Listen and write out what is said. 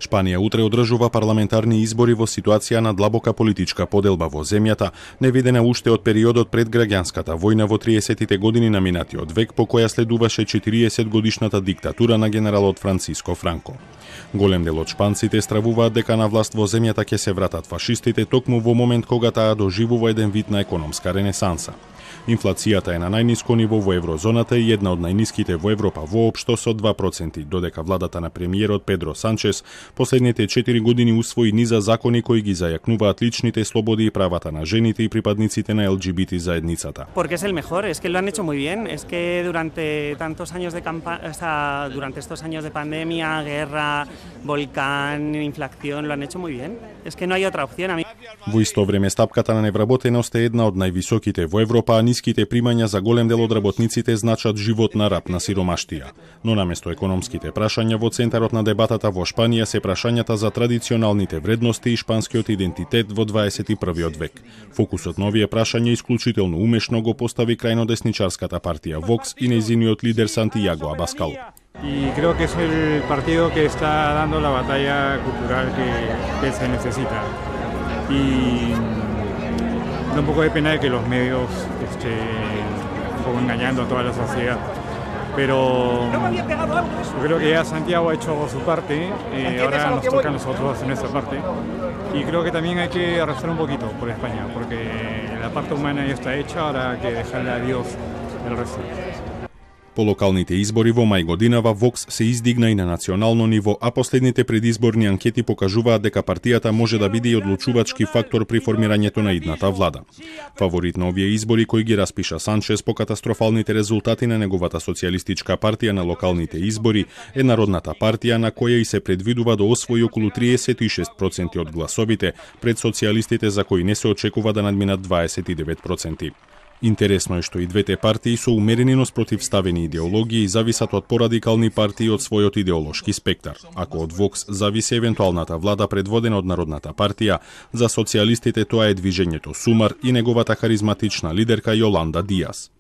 Шпанија утре одржува парламентарни избори во ситуација на длабока политичка поделба во земјата, невидена уште од периодот пред граѓанската војна во 30-тите години на минатиот век, по која следуваше 40-годишната диктатура на генералот Франциско Франко. Голем дел од шпанците стравуваат дека на власт во земјата ќе се вратат фашистите токму во момент кога таа доживува еден вид на економска ренесанса. Инфлацијата е на најниско ниво во еврозоната и една од најниските во Европа воопшто со 2%, додека владата на премиерот Педро Санчес последните 4 години усвои низа закони кои ги зајакнуваат личните слободи и правата на жените и припадниците на ЛГБТ заедницата. Porque es el mejor, es que lo han hecho muy bien, es que durante tantos años de durante estos años de pandemia, guerra, volcán, inflación, lo han hecho muy bien. Es que no hay otra opción. Во исто време стапката на невработеност е една од највисоките во Европа, а ниските примања за голем дел од работниците значат живот на раб на сиромаштија. Но наместо економските прашања во центарот на дебатата во Шпанија се прашањата за традиционалните вредности и шпанскиот идентитет во 21 век. Фокусот на овие прашања исклучително умешно го постави крајнодесничарската партија Vox и нејзиниот лидер Сантијаго Абаскал. Y creo que es el partido que está dando la batalla cultural que se necesita. Y da un poco de pena de que los medios un poco engañando a toda la sociedad. Pero yo creo que ya Santiago ha hecho su parte, ahora nos toca a nosotros hacer nuestra parte. Y creo que también hay que arrastrar un poquito por España, porque la parte humana ya está hecha, ahora hay que dejarle a Dios el resto. По локалните избори во мај годинава Vox се издигна и на национално ниво, а последните предизборни анкети покажуваат дека партијата може да биде и одлучувачки фактор при формирањето на идната влада. Фаворит на овие избори кои ги распиша Санчес по катастрофалните резултати на неговата социјалистичка партија на локалните избори е Народната партија, на која и се предвидува да освои околу 36% од гласовите пред социјалистите за кои не се очекува да надминат 29%. Интересно е што и двете партии со умерени но спротивставени идеологии зависат од порадикални партии од својот идеолошки спектар. Ако од Vox зависи евентуалната влада предводена од Народната партија, за социјалистите тоа е движењето Сумар и неговата харизматична лидерка Јоланда Диас.